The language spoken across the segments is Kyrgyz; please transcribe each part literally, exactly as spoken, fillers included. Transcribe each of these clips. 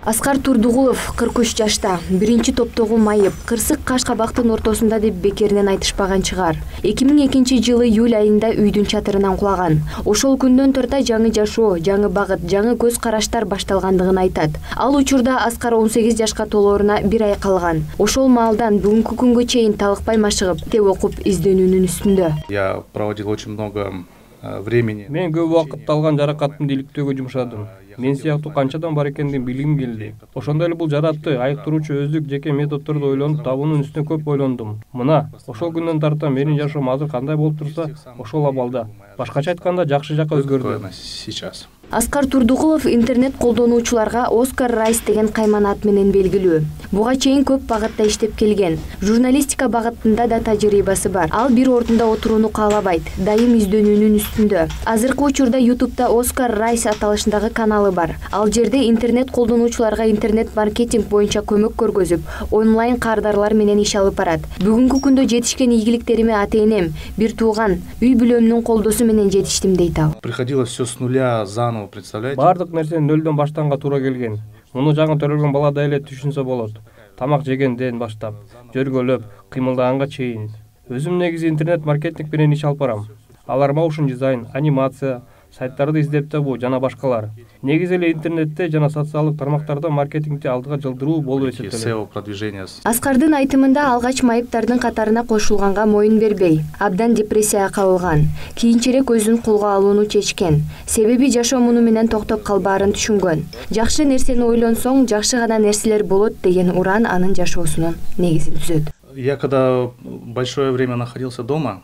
Аскар Турдугулов кырк үч жашта, биринчи топтогу майып, кырсык каш кабактын ортосунда деп бекеринен айтышпаган чыгар. эки миң экинчи жылы июль айында үйдүн чатырынан кулаган. Ошол күндөн тарта жаңы жашоо, жаңы багыт, жаңы көз караштар башталгандыгын айтат. Ал учурда Аскар он сегиз жашка толооруна бир ай калган. Ошол маалдан бүгүнкү күнгө чейин талыкпай машыгып, китеп окуп изденүүнүн үстүндө. Я проводил очень много времени. Мен көп убакыт алган жаракаттымды иликтөөгө жумшадым. Мен сыяктуу канчадан бар экендигин билгим келди. Ошондой эле бул жаратты айыктыруучу өздүк жеке методдорду ойлонуп табуунун үстүнө көп ойлондум. Мына, ошол күндөн тарта менин жашоом азыр кандай болуп турса, ошол абалда. Башкача айтканда, жакшы жакка өзгөрдү. Сейчас. Аскар Турдугулов интернет колдонуучуларга Оскар Райс деген кайман ат менен белгилүү. Буга чейин көп багытта иштеп келген. Журналистика багытында да тажрыйбасы бар. Ал бир ордунда отурууну каалабайт, дайым изденүүнүн үстүндө. Азыркы учурда ютубта Оскар Райс аталышындагы каналы бар. Ал жерде интернет колдонуучуларга интернет маркетинг боюнча көмөк көргөзүп, онлайн кардарлар менен иш алып барат. Бүгүнкү күндө жетишкен ийгиликтериме ата-энем, бир тууган, үй бүлөмдүн колдосу менен жетиштим дейт ал. Приходилось все с нуля заново, представляете? Бардык нерсени нөлдөн баштаганга туура келген. Муну жаңы төрөлгөн баладай эле түшүнсө болот. Тамак жегенден баштап, жөргөлөп, кыймылдаганга чейин. Өзүм негизи интернет маркетинг менен иш алып барам. Алар моушн дизайн, анимация, сайттарды издеп табуу жана башкалар. Негизи эле интернетте жана социалдык тармактарда маркетингди алдыга жылдыруу болуп эсептелет. Аскардын айтымында алгач майыптардын катарына кошулганга моюн бербей, абдан депрессияга кабылган. Кийинчерээк өзүн колго алууну чечкен. Себеби жашоо муну менен токтоп калбаарын түшүнгөн. Жакшы нерсени ойлонсоң, жакшы гана нерселер болот деген уран анын жашоосунун негизин түзөт. Я когда большое время находился дома,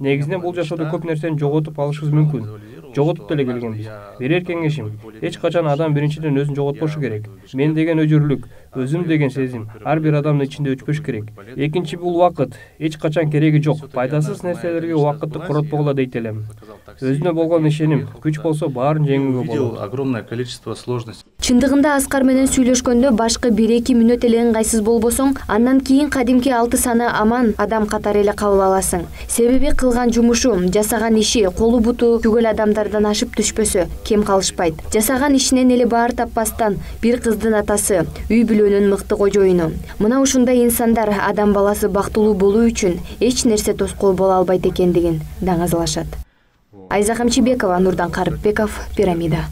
негизинен бул жашоодо көп нерсени жоготуп алышыбыз мүмкүн. Жоготуп деле келгенбиз. Берер кеңешим, эч качан адам биринчиден өзүн жоготпошу керек. Мен деген өжүрлүк, өзүм деген сезим ар бир адамдын ичинде өчпөш керек. Экинчи бул убакыт эч качан кереги жок. Пайдасыз нерселерге убакытты коротпогула дейт элем. Өзүнө болгон ишеним, күч болсо баарын жеңүүгө болот. Огромное количество сложностей. Чындыгында Аскар менен сүйлөшкөндө башкы бир-эки мүнөт эле ыңгайсыз болбосоң, андан кийин кадимки алты саны аман адам катары эле кабыл аласың. Себеби кылган жумушу, жасаган иши, колу буту түгөл адамдардан ашып түшпөсө, кем калышпайт. Жасаган ишинен эле баар таппастан бир кыздын атасы, үй бүлөнүн мыкты кожоюну. Мына ушундай инсандар адам баласы бактылуу болуу үчүн эч нерсе тоскоол боло албайт экендигин даңазалашат. Айза Камчыбекова, Нурдан Карыпбеков, Пирамида.